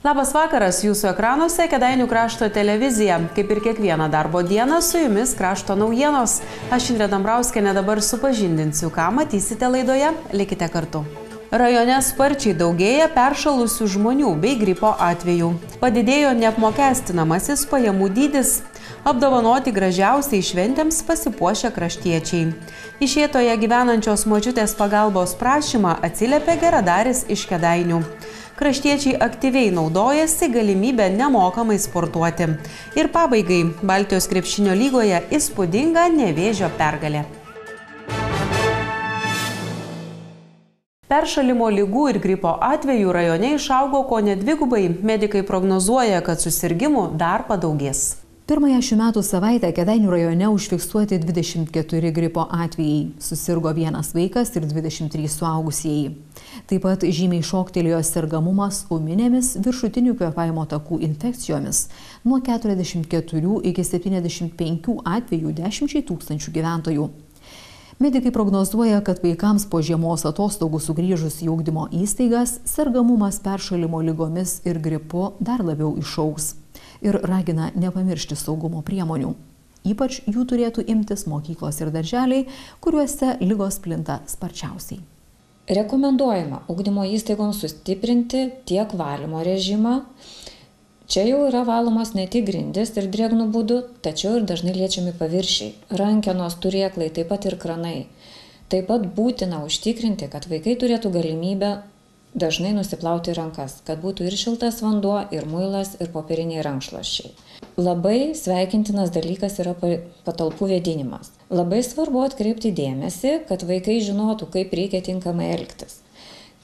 Labas vakaras, jūsų ekranuose Kėdainių krašto televizija. Kaip ir kiekvieną darbo dieną, su jumis krašto naujienos. Aš Indrė Dambrauskienė dabar supažindinsiu, ką matysite laidoje. Likite kartu. Rajone sparčiai daugėja peršalusių žmonių bei gripo atvejų. Padidėjo neapmokestinamasis pajamų dydis. Apdovanoti gražiausiai šventėms pasipuošę kraštiečiai. Išėtoje gyvenančios močiutės pagalbos prašymą atsiliepė geradaris iš Kėdainių. Kraštiečiai aktyviai naudojasi galimybę nemokamai sportuoti. Ir pabaigai, Baltijos krepšinio lygoje įspūdinga Nevėžio pergalė. Peršalimo ligų ir gripo atvejų rajone išaugo kone dvigubai. Medikai prognozuoja, kad susirgimų dar padaugės. Pirmąją šių metų savaitę Kėdainių rajone užfiksuoti 24 gripo atvejai. Susirgo vienas vaikas ir 23 suaugusieji. Taip pat žymiai šoktelėjo sergamumas ūminėmis viršutinių kvėpavimo takų infekcijomis nuo 44 iki 75 atvejų 10 000 gyventojų. Medikai prognozuoja, kad vaikams po žiemos atostogų sugrįžus į ugdymo įstaigas sergamumas peršalimo ligomis ir gripu dar labiau išaugs. Ir ragina nepamiršti saugumo priemonių. Ypač jų turėtų imtis mokyklos ir darželiai, kuriuose ligos plinta sparčiausiai. Rekomenduojama ugdymo įstaigoms sustiprinti tiek valymo režimą. Čia jau yra valomos ne tik grindis ir drėgnų būdų, tačiau ir dažnai liečiami paviršiai. Rankenos, turėklai, taip pat ir kranai. Taip pat būtina užtikrinti, kad vaikai turėtų galimybę dažnai nusiplauti rankas, kad būtų ir šiltas vanduo, ir muilas, ir popieriniai rankšluosčiai. Labai sveikintinas dalykas yra patalpų vėdinimas. Labai svarbu atkreipti dėmesį, kad vaikai žinotų, kaip reikia tinkamai elgtis.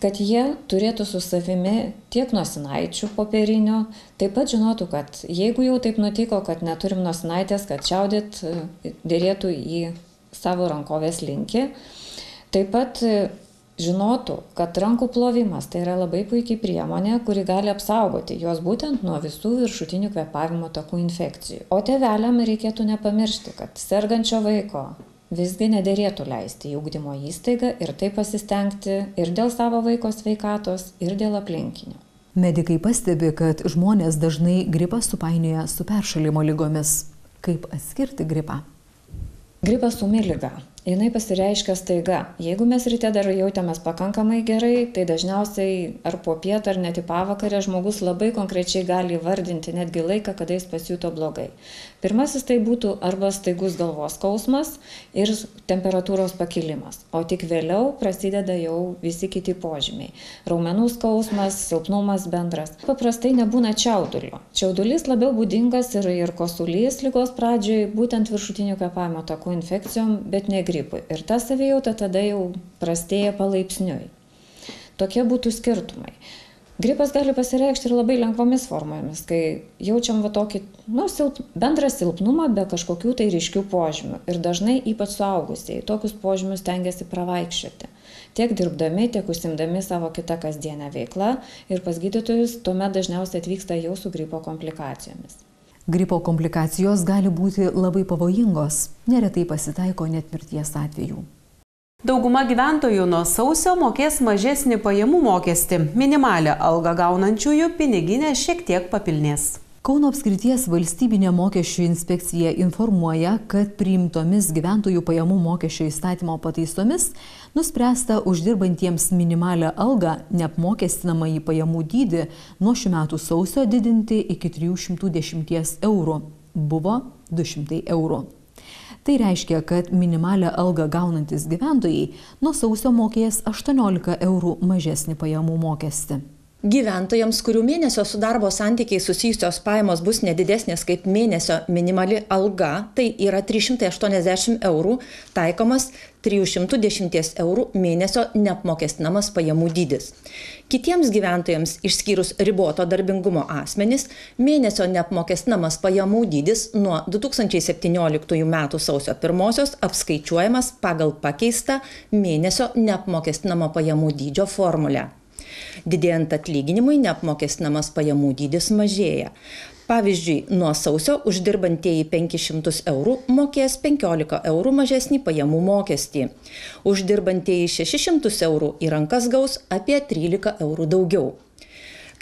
Kad jie turėtų su savimi tiek nosinaičių popierinių, taip pat žinotų, kad jeigu jau taip nutiko, kad neturim nosinaitės, kad čiaudyt dėrėtų į savo rankovės linkį. Taip pat žinotų, kad rankų plovimas tai yra labai puikiai priemonė, kuri gali apsaugoti juos būtent nuo visų viršutinių kvėpavimo takų infekcijų. O tėveliam reikėtų nepamiršti, kad sergančio vaiko visgi nederėtų leisti į ugdymo įstaigą ir taip pasistengti ir dėl savo vaiko sveikatos, ir dėl aplinkinių. Medikai pastebi, kad žmonės dažnai gripą supainioja su peršalimo ligomis. Kaip atskirti gripą? Gripas ūmi liga. Jinai pasireiškia staiga. Jeigu mes ryte dar jautėmės pakankamai gerai, tai dažniausiai ar po pietą, ar net į pavakarę žmogus labai konkrečiai gali įvardinti netgi laiką, kada jis pasijuto blogai. Pirmasis tai būtų arba staigus galvos skausmas ir temperatūros pakilimas, o tik vėliau prasideda jau visi kiti požymiai. Raumenų skausmas, silpnumas bendras. Paprastai nebūna čiaudulio. Čiaudulys labiau būdingas ir kosulys ligos pradžioj, būtent viršutinių kvėpavimo takų infekcijom, bet ne gripui. Ir ta savijauta tada jau prastėja palaipsniui. Tokie būtų skirtumai. Gripas gali pasireikšti ir labai lengvomis formomis, kai jaučiam tokį bendrą silpnumą be kažkokių tai ryškių požymių. Ir dažnai ypač suaugusiai tokius požymius stengiasi pravaikščioti. Tiek dirbdami, tiek užsimdami savo kitą kasdienę veiklą ir pas gydytojus tuomet dažniausiai atvyksta jau su gripo komplikacijomis. Gripo komplikacijos gali būti labai pavojingos, neretai pasitaiko net mirties atvejų. Dauguma gyventojų nuo sausio mokės mažesnį pajamų mokestį. Minimalią algą gaunančiųjų piniginė šiek tiek papilnės. Kauno apskrities valstybinė mokesčių inspekcija informuoja, kad priimtomis gyventojų pajamų mokesčio įstatymo pataisomis nuspręsta uždirbantiems minimalią algą neapmokestinamąjį pajamų dydį nuo šių metų sausio didinti iki 310 eurų. Buvo 200 eurų. Tai reiškia, kad minimalią algą gaunantis gyventojai nuo sausio mokės 18 eurų mažesnį pajamų mokestį. Gyventojams, kurių mėnesio su darbo santykiai susijusios pajamos bus nedidesnės kaip mėnesio minimali alga, tai yra 380 eurų, taikomas 310 eurų mėnesio neapmokestinamas pajamų dydis. Kitiems gyventojams, išskyrus riboto darbingumo asmenys, mėnesio neapmokestinamas pajamų dydis nuo 2017 m. sausio 1 apskaičiuojamas pagal pakeistą mėnesio neapmokestinamo pajamų dydžio formulę. Didėjant atlyginimui neapmokestinamas pajamų dydis mažėja. Pavyzdžiui, nuo sausio uždirbantieji 500 eurų mokės 15 eurų mažesnį pajamų mokestį. Uždirbantieji 600 eurų į rankas gaus apie 13 eurų daugiau.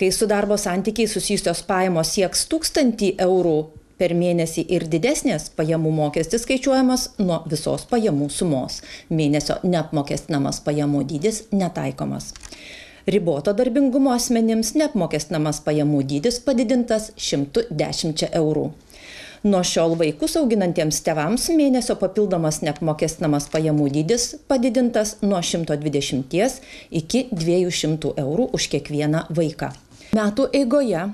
Kai su darbo santykiai susijusios pajamos sieks 1000 eurų per mėnesį ir didesnės, pajamų mokestis skaičiuojamas nuo visos pajamų sumos. Mėnesio neapmokestinamas pajamų dydis netaikomas. Riboto darbingumo asmenims neapmokestinamas pajamų dydis padidintas 110 eurų. Nuo šiol vaikus auginantiems tėvams mėnesio papildomas neapmokestinamas pajamų dydis padidintas nuo 120 iki 200 eurų už kiekvieną vaiką. Metų eigoje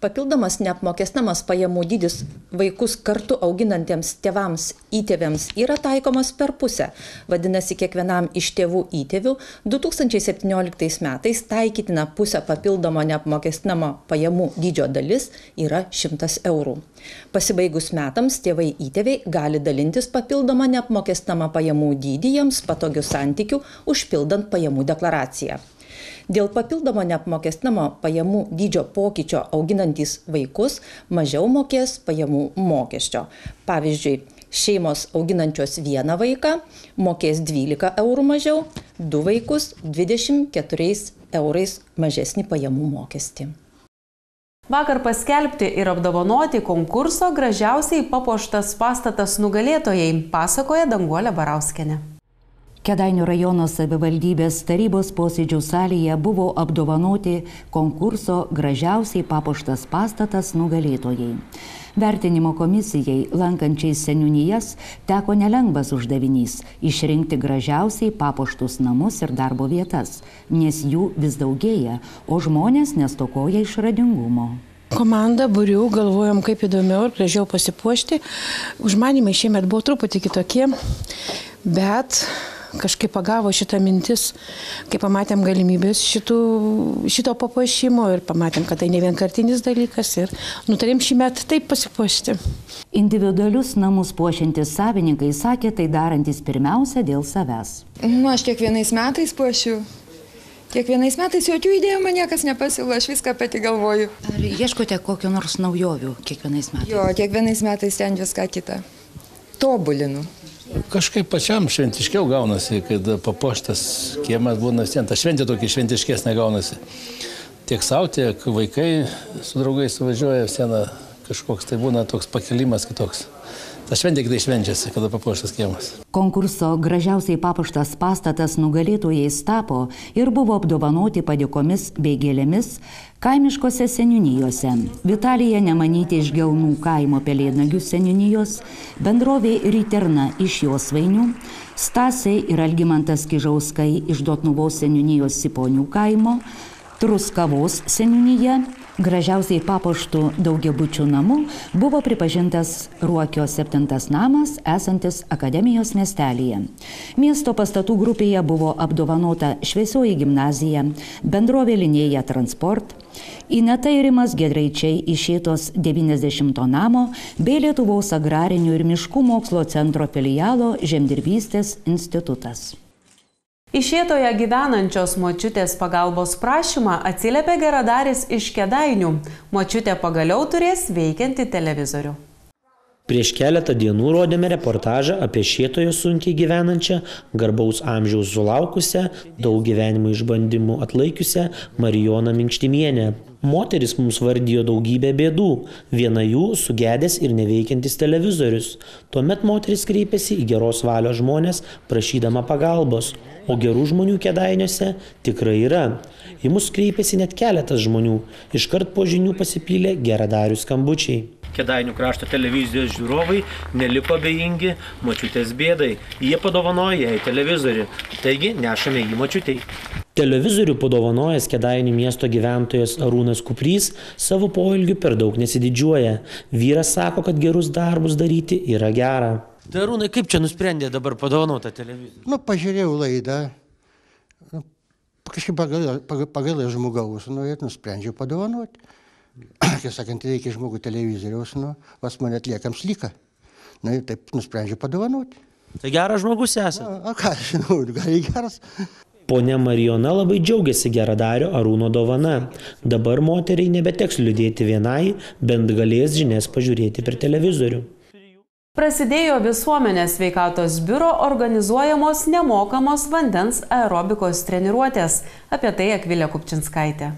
papildomas neapmokestinamas pajamų dydis vaikus kartu auginantiems tėvams įtėviams yra taikomas per pusę. Vadinasi, kiekvienam iš tėvų įtėvių 2017 metais taikytina pusę papildomo neapmokestinamo pajamų dydžio dalis yra 100 eurų. Pasibaigus metams tėvai įtėviai gali dalintis papildomą neapmokestinamą pajamų dydį jiems patogių santykių užpildant pajamų deklaraciją. Dėl papildomo neapmokestinamo pajamų dydžio pokyčio auginantys vaikus mažiau mokės pajamų mokesčio. Pavyzdžiui, šeimos auginančios vieną vaiką mokės 12 eurų mažiau, 2 vaikus 24 eurais mažesnį pajamų mokestį. Vakar paskelbti ir apdovanoti konkurso Gražiausiai papuoštas pastatas nugalėtojai, pasakoja Danguolė Barauskienė. Kėdainių rajono savivaldybės tarybos posėdžių salėje buvo apdovanoti konkurso Gražiausiai papuoštas pastatas nugalėtojai. Vertinimo komisijai, lankančiai seniūnijas, teko nelengvas uždavinys – išrinkti gražiausiai papuoštus namus ir darbo vietas, nes jų vis daugėja, o žmonės nestokoja išradingumo. Komanda būrių, galvojom, kaip įdomiau ir gražiau pasipuošti. Užmanymai šiemet buvo truputį kitokie, bet kažkaip pagavo šitą mintis, kai pamatėm galimybės šito papuošimo ir pamatėm, kad tai ne vienkartinis dalykas ir nutarėm šį metą taip pasipuošti. Individualius namus puošiantys savininkai sakė, tai darantis pirmiausia dėl savęs. Aš kiekvienais metais puošiu. Kiekvienais metais jokių idėjų man niekas nepasiūlo, aš viską pati galvoju. Ar ieškote kokio nors naujovių kiekvienais metais? Jo, kiekvienais metais ten viską kitą tobulinu. Kažkaip pačiam šventiškiau gaunasi, kad papuoštas kiemas būna vis tiek, ta šventė tokia šventiškesnė gaunasi. Tiek savo, tiek vaikai su draugais suvažiuoja, vis tiek kažkoks tai būna toks pakilimas kitoks. Ta šventė kitai švenčiasi, kada papuoštas kiemas. Konkurso Gražiausiai papuoštas pastatas nugalėtojais tapo ir buvo apdovanoti padėkomis bei gėlėmis kaimiškose seniūnijose. Vitalija Nemanyti iš Gelnų kaimo Pelėdnagių seniūnijos, bendrovė Riterna iš Josvainių, Stasiai ir Algimantas Kižauskai iš Dotnuvos seniūnijos Siponių kaimo, Truskavos seniūnyje. Gražiausiai papuoštų daugiabučių namų buvo pripažintas Ruokio 7 namas, esantis Akademijos miestelyje. Miesto pastatų grupėje buvo apdovanota Šviesioji gimnazija, bendrovė Linėja Transport, Ineta ir Rimas Gedraičiai iš Šėtos 90 namo bei Lietuvos agrarinių ir miškų mokslo centro filialo Žemdirbystės institutas. Iš Šėtoje gyvenančios močiutės pagalbos prašymą atsiliepė geradaris iš Kėdainių. Močiutė pagaliau turės veikiantį televizorių. Prieš keletą dienų rodėme reportažą apie Šėtoje sunkiai gyvenančią, garbaus amžiaus sulaukusią, daug gyvenimo išbandymų atlaikiusią Marijoną Minkštimienę. Moteris mums vardijo daugybę bėdų, viena jų sugedęs ir neveikiantis televizorius. Tuomet moteris kreipėsi į geros valios žmonės, prašydama pagalbos, o gerų žmonių Kėdainiuose tikrai yra. Į mus kreipėsi net keletas žmonių, iškart po žinių pasipylė geradarių skambučiai. Kėdainių krašto televizijos žiūrovai neliko abejingi močiutės bėdai. Jie padovanojo jai televizorių, taigi nešame jį močiutei. Televizorių padovanojęs Kėdainių miesto gyventojas Arūnas Kuprys savo poelgiu per daug nesididžiuoja. Vyras sako, kad gerus darbus daryti yra gera. Tai Arūnai, kaip čia nusprendė dabar padovanotą televizorių? Pažiūrėjau laidą, kažkaip pagal žmogaus, ir nusprendžiau padovanoti. Kaip sakant, reikia žmogų televizoriaus, vas mane atliekams lyka. Ir taip nusprendžiau padovanoti. Tai geras žmogus esate? Ką žinau, gal geras. Ponia Marijona labai džiaugiasi geradario Arūno dovana. Dabar moteriai nebeteks liūdėti vienai, bent galės žinias pažiūrėti per televizorių. Prasidėjo Visuomenės sveikatos biuro organizuojamos nemokamos vandens aerobikos treniruotės. Apie tai Akvilė Kupčinskaitė.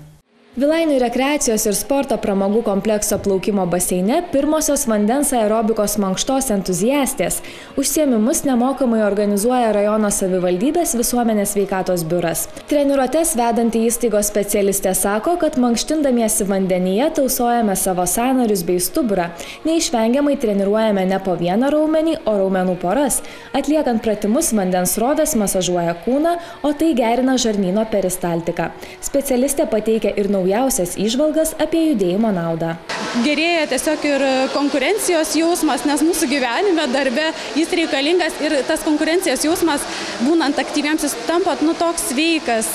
Vilainių rekreacijos ir sporto pramogų komplekso plaukimo baseine pirmosios vandens aerobikos mankštos entuziastės. Užsiėmimus nemokamai organizuoja rajono savivaldybės visuomenės sveikatos biuras. Treniruotes vedanti įstaigos specialistė sako, kad mankštindamiesi vandenyje tausojame savo sąnarius bei stuburą. Neišvengiamai treniruojame ne po vieną raumenį, o raumenų poras. Atliekant pratimus vandens srovės masažuoja kūną, o tai gerina žarnyno peristaltiką. Specialistė pateikia ir naujausias įžvalgas apie judėjimo naudą. Gerėja tiesiog ir konkurencijos jausmas, nes mūsų gyvenime, darbe jis reikalingas ir tas konkurencijos jausmas, būnant aktyviems, jis tampa toks sveikas.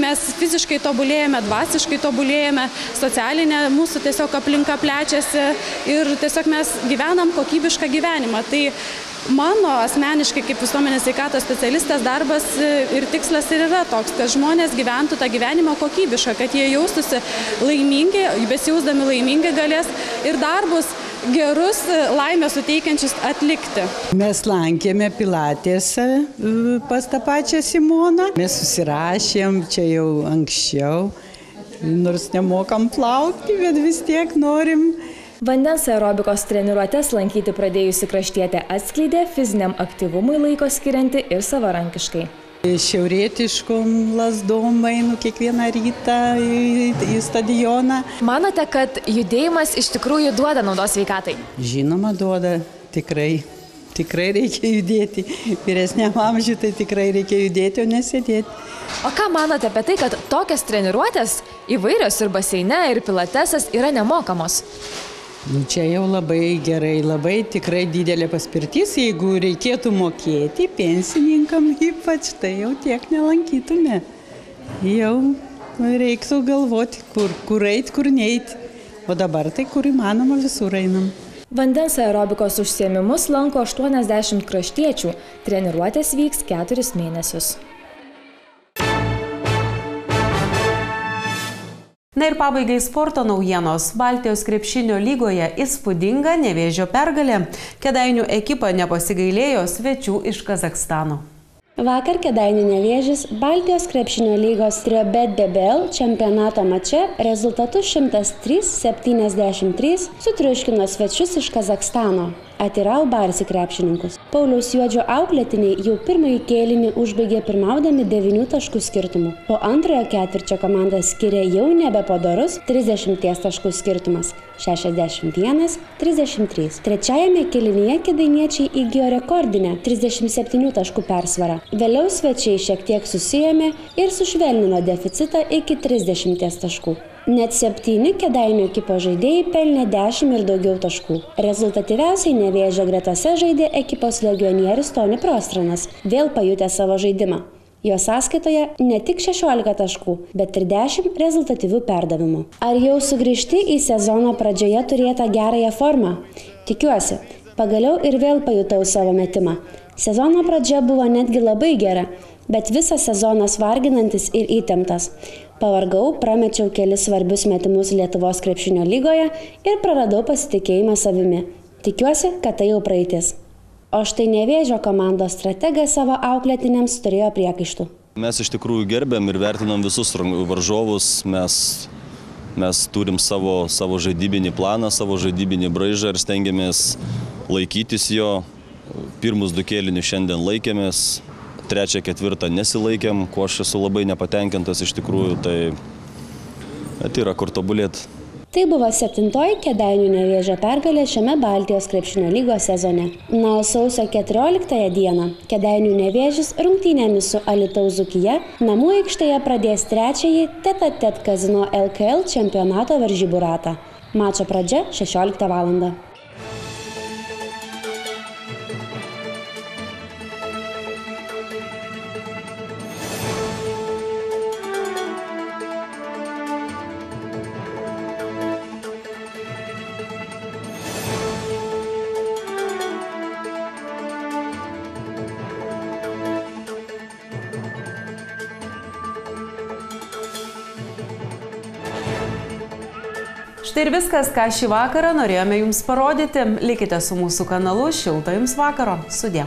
Mes fiziškai tobulėjame, dvasiškai tobulėjame, socialinė mūsų tiesiog aplinka plečiasi ir tiesiog mes gyvenam kokybišką gyvenimą. Tai mano asmeniškai kaip visuomenės sveikatos specialistės darbas ir tikslas ir yra toks, kad žmonės gyventų tą gyvenimą kokybišką, kad jie jaustųsi laimingi, besijausdami laimingi galės ir darbus gerus, laimę suteikiančius atlikti. Mes lankėme pilatėse pas tą pačią Simoną. Mes susirašėm čia jau anksčiau, nors nemokam plaukti, bet vis tiek norim. Vandens aerobikos treniruotes lankyti pradėjusi kraštietė atskleidė fiziniam aktyvumui laiko skirianti ir savarankiškai. Šiaurietiškom lazdom einu kiekvieną rytą į stadioną. Manote, kad judėjimas iš tikrųjų duoda naudos sveikatai? Žinoma, duoda. Tikrai reikia judėti. Vyresniam amžiui tai tikrai reikia judėti, o nesėdėti. O ką manote apie tai, kad tokios treniruotės įvairios ir baseine, ir pilatesas yra nemokamos? Čia jau labai gerai, labai tikrai didelė paspirtis. Jeigu reikėtų mokėti pensininkam ypač, tai jau tiek nelankytume. Jau reiktų galvoti, kur eit, kur neit. O dabar tai kur įmanoma visur einam. Vandens aerobikos užsiėmimus lanko 80 kraštiečių. Treniruotės vyks 4 mėnesius. Na ir pabaigai sporto naujienos. Baltijos krepšinio lygoje įspūdinga Nevėžio pergalė. Kėdainių ekipa nepasigailėjo svečių iš Kazachstano. Vakar Kėdainių Nevėžis Baltijos krepšinio lygos Triobet BBL čempionato mače rezultatu 103-73 sutriuškino svečius iš Kazachstano. Atirau Barsi krepšininkus. Pauliaus Juodžio auklėtiniai jau pirmąjį kėlinį užbaigė pirmaudami 9 taškų skirtumų. Po antrojo ketvirčio komanda skiria jau nebepadorus 30 taškų skirtumas – 61-33. Trečiajame kėlinyje kėdainiečiai įgijo rekordinę 37 taškų persvarą. Vėliau svečiai šiek tiek susiėmė ir sušvelnino deficitą iki 30 taškų. Net 7 Kėdainių ekipos žaidėjai pelnė 10 ir daugiau taškų. Rezultatyviausiai Nevėžio gretose žaidė ekipos legionierius Toni Prostranas, vėl pajutė savo žaidimą. Jo sąskaitoje ne tik 16 taškų, bet ir 10 rezultatyvių perdavimų. Ar jau sugrįžti į sezono pradžioje turėtą gerąją formą? Tikiuosi. Pagaliau ir vėl pajutau savo metimą. Sezono pradžia buvo netgi labai gera, bet visas sezonas varginantis ir įtemptas. Pavargau, pramečiau kelis svarbius metimus Lietuvos krepšinio lygoje ir praradau pasitikėjimą savimi. Tikiuosi, kad tai jau praeitis. O štai Nevėžio komandos strategas savo auklėtiniams turėjo priekaištų. Mes iš tikrųjų gerbėm ir vertinam visus varžovus. Mes turim savo žaidybinį planą, savo žaidybinį braižą ir stengiamės laikytis jo. Pirmus 2 kėlinius šiandien laikėmės. 3, 4 nesilaikėm, ko aš esu labai nepatenkintas iš tikrųjų, tai yra kur tobulėti. Tai buvo 7-oji Kėdainių Nevėžio pergalė šiame Baltijos krepšinio lygos sezone. Na, o sausio 14 dieną Kėdainių Nevėžis rungtynėmis su Alytaus Dzūkija namų aikštėje pradės 3-ąjį tet-a-tet Kazino LKL čempionato varžybų ratą. Mačo pradžia 16 val. Štai ir viskas, ką šį vakarą norėjome jums parodyti. Likite su mūsų kanalu. Šilto jums vakaro. Sudie.